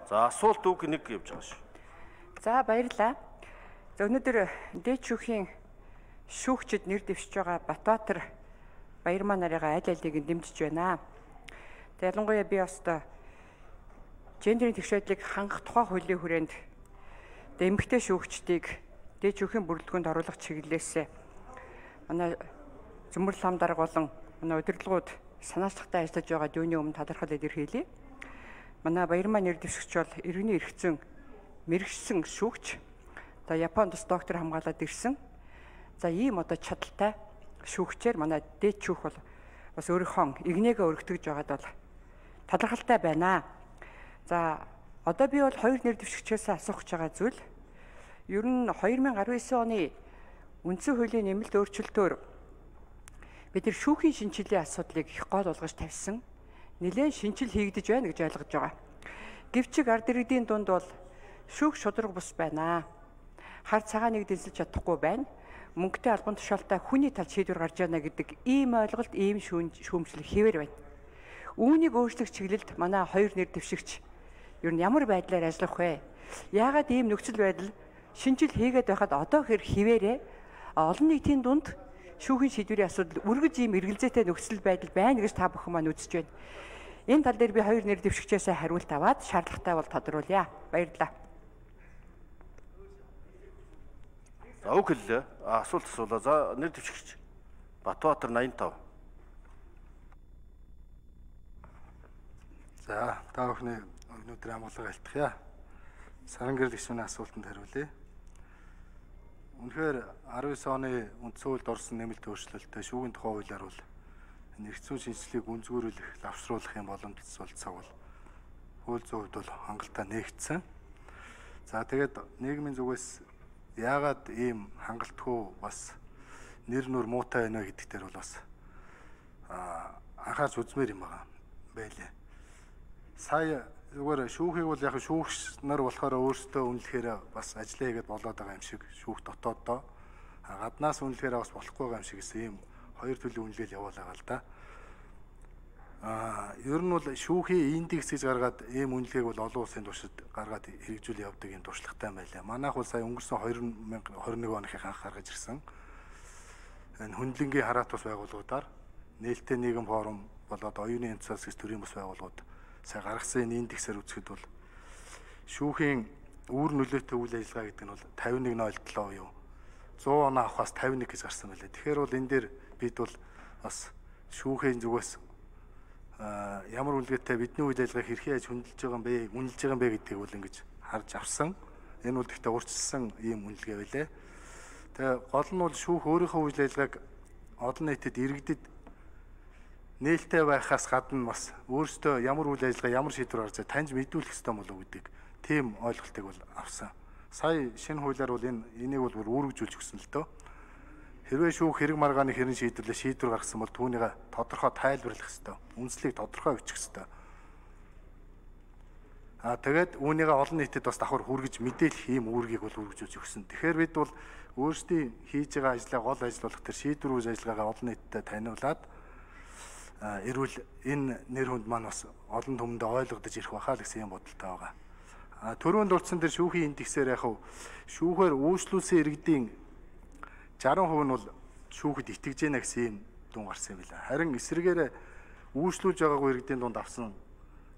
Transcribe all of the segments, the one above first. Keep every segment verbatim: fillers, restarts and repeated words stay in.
За асуулт үг нэг явж байгаа шүү. За баярлалаа. За өнөөдөр дээд шүүхийн шүүгчид нэр дэвшиж байгаа Батбаатар Баярмаа нарыгаа аль алийг нь дэмжиж байна. Тэг ялангуяа би бас гендерийн тэгш байдлыг хангах тухай хуулийн хүрээнд эмэгтэй шүүгчдийг дээд шүүхийн бүрэлдэхүүнд оруулах чиглэлээс манай Зөмбөр лам дарга болон манай удирдлагууд санаачлагтай ажиллаж байгаа дүүний өмнө талархал илэрхийлье. Манай Баярмаа нэр дэвшигч бол иргэний эрхцэн мэрэгчсэн шүүгч. За Японд бас доктор хамгаалаад ирсэн. За ийм одоо чадaltaй шүүгчээр манай дээд шүүх бол бас өөрийнхөө игнэгээ өргөтгөж байгаад бол талархалтай байна. За одоо би бол хоёр нэр дэвшигчээс асуух гэж байгаа зүйл ер нь две тысячи девятнадцать оны үндсэн хуулийн нэмэлт өөрчлөлтөөр бид нар шүүхийн шинжилгээ асуудлыг их гол болгож тавьсан. Нэлээд шинжил хийгдэж байна гэж ойлгож байгаа. Гэвч ард иргэдийн дунд бол шүүх шударга бус байна. Хар цагааныг дэнсэлж чадахгүй байна. Мөнгөтэй албан тушаалтай хүний талд шийдвэр гарч яана гэдэг ийм ойлголт, ийм шүүмжлэл хэвээр байна. Үүнийг өөрчлөх чиглэлд манай хоёр нэр дэвшигч ер нь ямар байдлаар ажиллах вэ? Яагаад ийм нөхцөл байдал шинжил хийгээд байхад одоо хэр хിവэрэ олон нийтийн дунд шүүхийн шийдвэрийн асуудал үргэлж ийм эргэлзээтэй нөхцөл байдал байна гэж та бүхэн маань үзэж байна. Энэ тал дээр би хоёр нэр дэвшигчээс хариулт аваад шаардлагатай бол тодруулъя. Баярлалаа. За үг хэллээ. Асуулт асуулаа. За нэр дэвшигч Батбаатар восемьдесят пять. За та бүхний өнөөдөр амгалан алтгая. Саран гэрэл гишүүний асуултанд хариулъя. Үнэхээр девять оны үндсэн хуульд орсон нэмэлт өөрчлөлтөд шүүгийн тухай хуулиар бол нэрцүүн шинжилгээг үнзгүүрүүлэх, лавшруулах юм боломжтой бол цаг бол хууль зүйн хувьд бол хангалттай нээгдсэн. За тэгээд нийгмийн зүгээс яагаад ийм хангалтгүй бас нэр нүр муутай байна гэдэг дээр бол бас анхаарч үзмээр юм байгаа байлээ. Сая зүгээр шүүхийг бол яг шүүгч нар болохоор өөрсдөө үнэлэхээр бас ажиллаа хийгээд болоод байгаа юм шиг шүүх дотооддоо гаднаас үнэлэхээр бас болохгүй байгаа юм шиг ийм хоёр төрлийн үнэлгээл явуулаа л да. Аа ер нь бол шүүхийн индекс гэж гаргаад ийм үнэлгээг бол олон улсын туршид гаргаад хэрэгжүүл явдаг юм туршлагатай байлаа. Манайх бол сая өнгөрсөн две тысячи двадцать one оных анх гаргаж ирсэн. Энэ хөндлөнгийн хараат бас байгууллагуудаар нээлттэй нийгэм форум болоод оюуны янцаас гэж төрийн бас байгууллагууд сая гаргасан энэ индексээр үзэхэд бол шүүхийн үүр нөлөөтэй үйл ажиллагаа гэдэг нь бол fifty-one point seven буюу one hundred оноо авахаас fifty-one гэж гарсан байлаа. Тэгэхээр бол энэ дээр бид бол бас шүүхийн зүгээс ямар үлгээтэй бидний үйл ажиллагааг хэрхэн яаж хөндлөж байгаа юм бэ, үнэлж байгаа юм бэ гэдгийг бол ингэж харж авсан. Энэ бол гэхдээ урьдчилсан ийм үнэлгээ байлаа. Тэгээ гол нь бол шүүх өөрийнхөө үйл ажиллагааг олон нийтэд иргэдэд нээлттэй байхаас гадна бас өөртөө ямар үйл ажиллагаа, ямар шийдвэр гаргаж таньж мэдүүлэх ёстой болов уу гэдэг тийм ойлголтыг бол авсан. Сая шинэ хуулиар бол энэ энийг бол бүр үүргэжүүлж өгсөн л дөө. Хэрвээ шүүх хэрэг маргааны хэрэн шийдвэрлээ шийдвэр гаргасан бол түүнийг тодорхой тайлбарлах ёстой. Үндслийг тодорхой бичих ёстой. Аа тэгээд үүнийг олон нийтэд бас давхар хүргэж мэдээлэх ийм үүргийг бол үргэлжлүүлж өгсөн. Тэгэхээр бид бол өөрсдийн хийж байгаа ажлаа гол ажил болох тэр шийдвэр үүс ажиллагаагаа олон нийтэд таниулаад эрүүл энэ нэр хүнд маань бас олон түмэндээ ойлгогдож ирэх байхаа л гэсэн юм бодолтой байгаа. А түрүүнд дурдсан тэр шүүхийн индексээр яг шүүхээр үйлчлүүлсэн иргэдийн sixty percent нь бол шүүхэд итгэж байна гэсэн юм дүн гарсан юм байна. Харин эсрэгээрээ үйлчлүүлж байгаагүй иргэдийн дунд авсан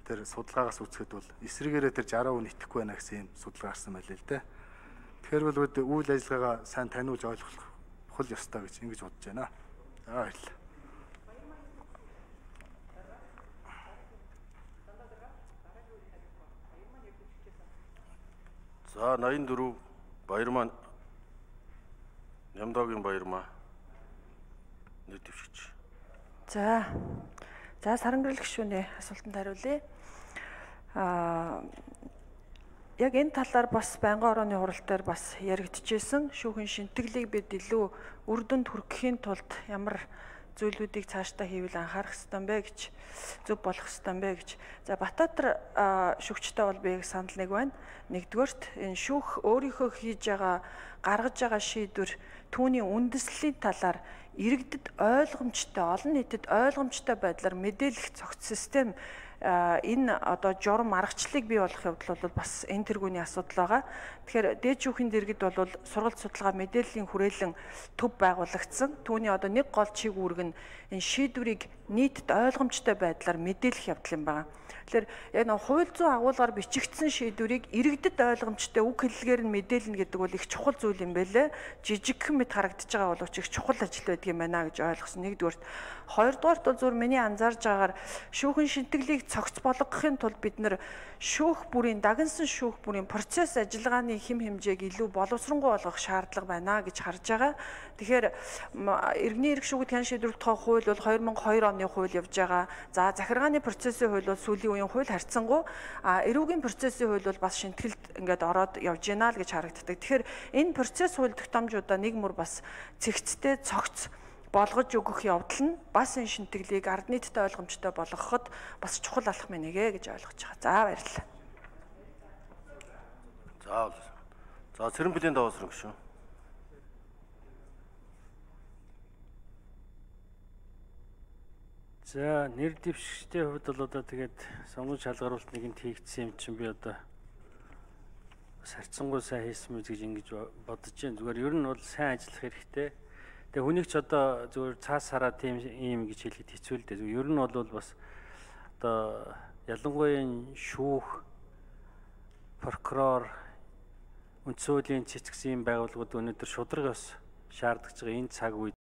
тэр судалгаагаас үзэхэд бол эсрэгээрээ тэр sixty percent итгэхгүй байна гэсэн юм судалгаа гарсан байлээ л дээ. Тэгэхээр бол үйл ажиллагаагаа сайн таниулж ойлгох хөл ёстой гэж ингэж бодож байна. За баярлалаа. За ninety-four Баярмаа Нямдаагийн Баярмаа нэр дэвшигч. За. За саран гэрэл гишүүний асуултанд хариулъя. Аа яг энэ талаар бас байнгын орооны хуралдаар бас яригдчихсэн. Шүүхийн шинтгэлийг бид илүү үр дүнд хүрэхийн тулд ямар зүйлүүдийг цаашдаа хийвэл анхаарах ёстой юм бэ гэж, зөв болох ёстой юм бэ гэж. За Батбаатар шүүгчтэй бол би санал нэг байна. Нэгдүгээрт энэ шүүх өөрийнхөө хийж байгаа, гаргаж байгаа шийдвэр түүний үндэслэлийн талаар иргэдэд ойлгомжтой, олон нийтэд ойлгомжтой байдлаар мэдээлэх цогц систем энэ одоо журам аргачлалыг бий болгох явдал бол бас энэ тэргүүний асуудал байгаа. Тэгэхээр дээд шүүхийн дэргэд бол сургалт судалгаа мэдээллийн хүрээлэн төв байгуулагдсан. Түүний одоо нэг гол чиг үүрэг нь энэ шийдвэрийг нийтэд ойлгомжтой байдлаар мэдээлэх явдал юм байна. Тэгэхээр яг нэг хууль зүйн агуулгаар бичигдсэн шийдвэрийг иргэдэд ойлгомжтой үг хэллэгээр нь мэдээлнэ гэдэг бол их чухал зүйл юм байлээ. Жижигхэн мэт харагдаж байгаа боловч их чухал ажил байдаг юм байна гэж ойлгосон. Нэгдүгээрт, хоёрдугаарт бол зөвхөн миний анзаарж байгаагаар шүүхэн шинтгэлийг цогц болгохын тулд бид нэр шүүх бүрийн дагнсан шүүх бүрийн процесс ажиллагааны хэм хэмжээг илүү боловсронгуй болгох шаардлага байна гэж харж байгаа. Тэгэхээр иргэний эрх шүүхэд хэн шийдвэрлэх тухай хууль бол хоёр мянга хоёр оны хууль явж байгаа. За захиргааны процессын хууль бол сүүлийн үеийн хууль харьцангуй, а эрүүгийн процессын хууль бол бас шинтгэлд ингээд ороод явж байна л гэж харагддаг. Тэгэхээр энэ процесс хууль тогтоомжуудаа нэг мөр бас цэгцтэй цогц болгож өгөх явдал нь бас энэ шинтгэлийг ард нийтэд ойлгомжтой болгоход бас чухал алхам нэгэ гэж ойлгож байгаа. За баярлалаа. За за цэрэн бүлийн даваасрын гүшүү. За нэр дэвшигчдийн хувьд бол одоо тэгээд сонгон шалгаруулалт нэгэнд хийгдсэн юм чинь би одоо сарцсангуй сайн хийсэн мэт гэж ингэж бодож байна. Зүгээр ер нь бол сайн ажиллах хэрэгтэй. Тэгээ хүнийг ч одоо зүгээр цаас хараа тийм юм гэж хэлэхэд хэцүү л дээ. Ер нь бол бас одоо ялангуяа шүүх, прокурор, үндсэн хуулийн цэцгсэн байгууллагууд өнөөдөр шударга бас шаардж байгаа энэ цаг үед